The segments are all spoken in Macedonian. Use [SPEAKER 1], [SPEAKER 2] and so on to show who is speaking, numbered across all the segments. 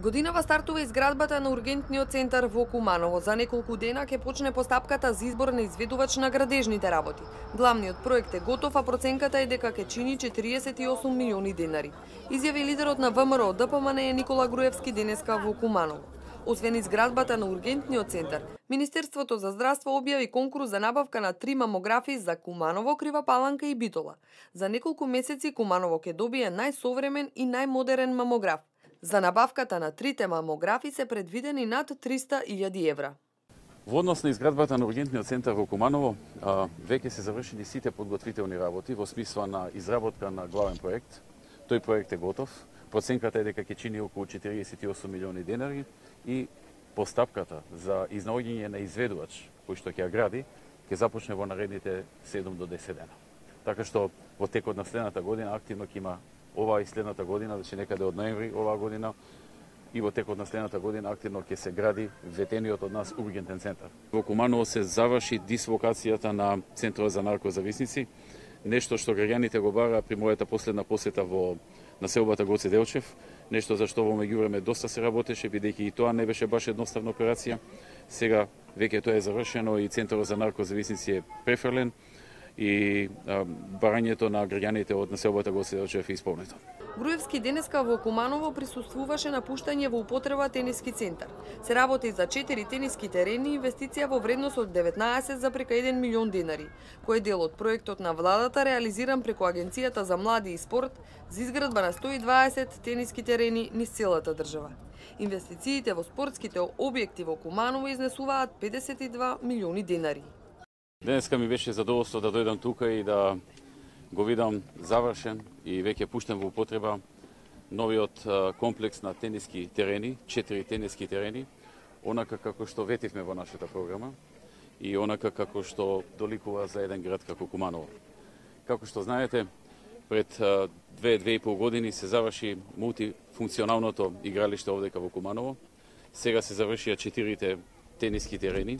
[SPEAKER 1] Годинава стартува изградбата на ургентниот центар во Куманово. За неколку дена ќе почне постапката за избор на изведувач на градежните работи. Главниот проект е готов, а проценката е дека ќе чини 48 милиони денари. Изјави лидерот на ВМРО ДПМН Никола Груевски денеска во Куманово. Освен изградбата на ургентниот центар, Министерството за здравство објави конкурс за набавка на 3 мамографи за Куманово, Крива Паланка и Битола. За неколку месеци Куманово ќе добие најсовремен и најмодерен мамограф. За набавката на 3 мамографи се предвидени над 300.000 евра.
[SPEAKER 2] Во однос на изградбата на ургентниот центар во Куманово, веќе се завршени сите подготвителни работи во смисла на изработка на главен проект. Тој проект е готов. Проценката е дека ќе чини околу 48 милиони денари и постапката за изнаоѓање на изведувач кој што ќе ја гради ќе започне во наредните 7 до 10 дена. Така што во текот на следната година активно ќе има оваа и следната година, значи некаде од ноември оваа година и во текот на следната година активно ќе се гради ветениот од нас ургентен центар. Во Куманово се заврши дислокацијата на центарот за наркозависници, нешто што граѓаните го бараа при мојата последна посета во населбата Гоце Делчев, нешто за што во меѓувреме доста се работеше, бидејќи и тоа не беше баш едноставна операција. Сега веќе тоа е завршено и центарот за наркозависници е префрлен и барањето на граѓаните од населбата Гоце Делчев е исполнето.
[SPEAKER 1] Груевски денеска во Куманово присуствуваше на пуштање во употреба тениски центар. Се работи за 4 тениски терени и инвестиција во вредност од 19,1 милион денари, кој е дел од проектот на владата реализиран преку Агенцијата за млади и спорт за изградба на 120 тениски терени низ целата држава. Инвестициите во спортските објекти во Куманово изнесуваат 52 милиони денари.
[SPEAKER 2] Денеска ми беше задоволство да дојдам тука и да го видам завршен и веќе пуштен во употреба новиот комплекс на тениски терени, 4 тениски терени, онака како што ветивме во нашата програма и онака како што доликува за еден град како Куманово. Како што знаете, пред 2-2,5 години се заврши мултифункционалното игралиште овдека во Куманово. Сега се завршија 4 тениски терени,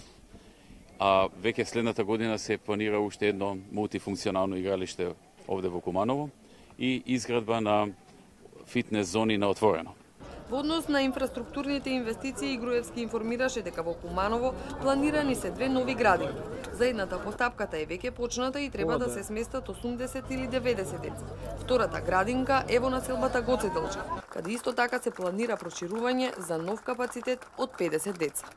[SPEAKER 2] а веќе следната година се планира уште едно мултифункционално игралиште овде во Куманово и изградба на фитнес зони на отворено.
[SPEAKER 1] Во однос на инфраструктурните инвестиции, Груевски информираше дека во Куманово планирани се 2 нови градинки. За едната постапката е веќе почната и треба да се сместат 80 или 90 деца. Втората градинка е во населбата Гоце Делчев, каде исто така се планира проширување за нов капацитет од 50 деца.